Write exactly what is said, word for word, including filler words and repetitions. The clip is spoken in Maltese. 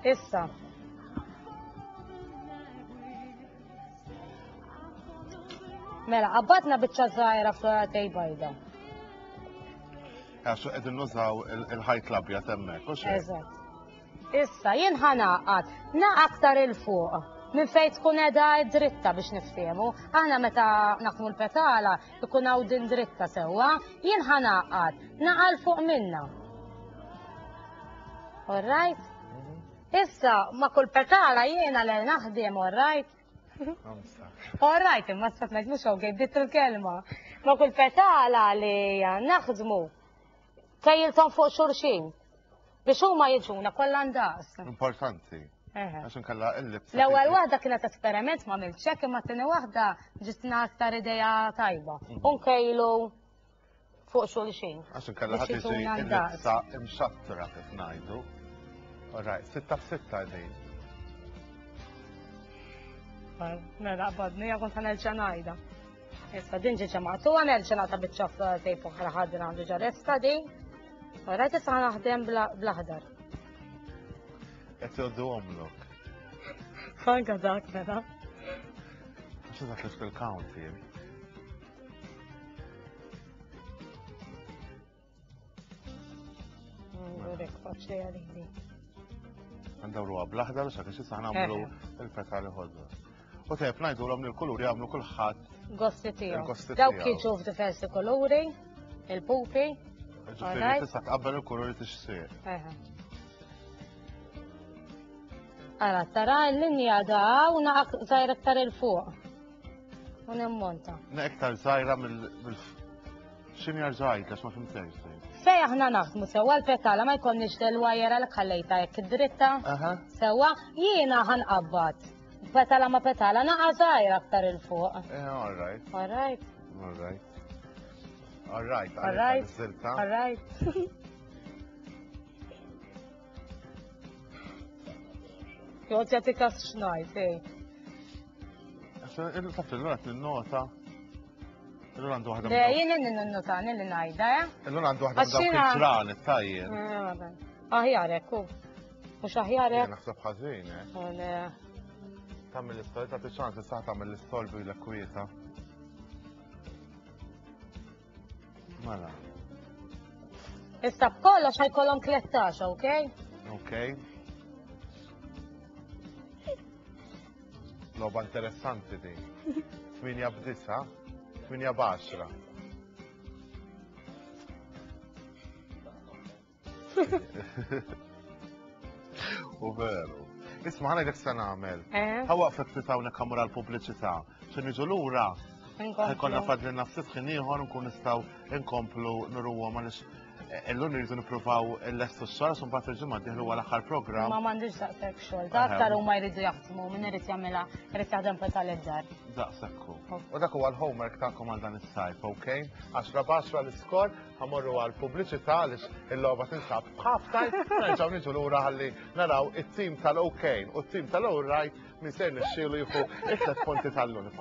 Issa. Mela, qabbadna biċċa żgħira floratej bajda. Għax qegħdin nużaw il-ħajt l-abjad hemmhekk, u xejn. Eżatt. Issa, jien ħa nagħqad, naqa aktar 'il fuq, minn fejn tkun qiegħda dritta biex niftehmu. Aħna meta naħdmu l-petala ikun hawn din dritta sewwa, jien ħa nagħqad, naqa 'l fuq minna. All right? Issa, ma kull petala jiena li naħdem, all right? All right, imma s ngħid mhux okay, bdiet il-kelma. Ma kull petala li naħdmu kejjiltom fuq xulxin. Biex huma jiġuna kollha ndaqs. Importanti. Għax inkella il-libsa. L-ewwel waħda kienet esperiment ma għamiltx imma t-tieni waħda ġitna aktar idea tajba. Mhm. U nkejlu fuq xulxin. Għax inkella ħadd Biex tiġi jiġuna ndaqs. il-libsa imxattra kif ngħidu. All right, sitta f'sitta din. Mela qbadni, kont ħa nerġa' ngħidha. Issa din ġiġa maqtuha nerġa' nagħta biċċa tape oħra ħadra għandu ġa lesta din. Alright, issa ħa naħdem bl-aħdar. Qed jgħoddu omlok. Anka dak mela. Għax dak li fil-count jien. Ngurek faċli għalili. Ndawruha bl-aħdar u x'għax issa nagħmlu il-petali ħodor. U tajjeb ngħidulhom li l-kulur jagħmlu kulħadd Gosti tiegħu. Il-gosti Dawk tiegħu. jiġu f'diversi kuluri, il-pupi. Ġifieri Alright. tista' tqabbel il-kulur li tixtieq. Eħe. Ara, tara l-linja da u naqa żgħira aktar 'il fuq. U nimmonta. Na iktar żgħira mill mill x'inhi rġajt għax ma fimtejx. Fej aħna naħdmu sewwa l-petala ma jkollniex del-wajera li ħallejta jekk dritta. Aha. Sewwa jiena ħanqabbad. Petala ma petala naqa żgħira aktar 'il fuq. Eh, all right, All right, all right. All right, all right, Zilta. all right. Joqgħod jagħti kas x'ngħid, ej. Il-taf il-lura nota. Illura għandu waħda Le, minn dawk- jien ninnotani li ngħidha, eh? illura għandu waħda minn Għax dawk jiena- il-ġranet tajjeb. Eh, vabbè. Aħjar hekk hu. Mhux aħjar Jien hekk. naħseb ħażin, eh. Oh, le. Tagħmel l-istorja, tagħti ċans issa tagħmel l-istorja bil kwieta. Mela, Issa b'kollox ħajkollhom tlettax, okej? okej. Logħba interessanti din. Tminja b'disa, tminja b'għaxra. U veru. Isma' ħana se nagħmel. Eh? Ħa waqfek ftit hawnhekk ħammur għall-pubbliċità. Xi niġu lura ħajkollna fadlilna ftit ħin ieħor nkun nistgħu nkomplu nuruhom għaliex illum irridu nippruvaw il-lestu x-xogħol għax imbagħad il-ġimgħa d-dieħla huwa l-aħħar programm. Ma m'għandix daqshekk xogħol. Da aktar huma jridu jaħdmu, min irid jagħmilha, irid jaħdem petal id-dar. Daqshekk hu. U dak huwa l-homework tagħkom għal dan is-sajf, okej? Għaxra b'għaxra l-iskor, ħamorru għal pubbliċità għaliex il-logħba tinsab b'half time, nerġgħu niġu lura ħalli naraw it-tim tal-OK u t-tim tal-All Right min se jirnexxielu jieħu it-tliet punti tal-lum.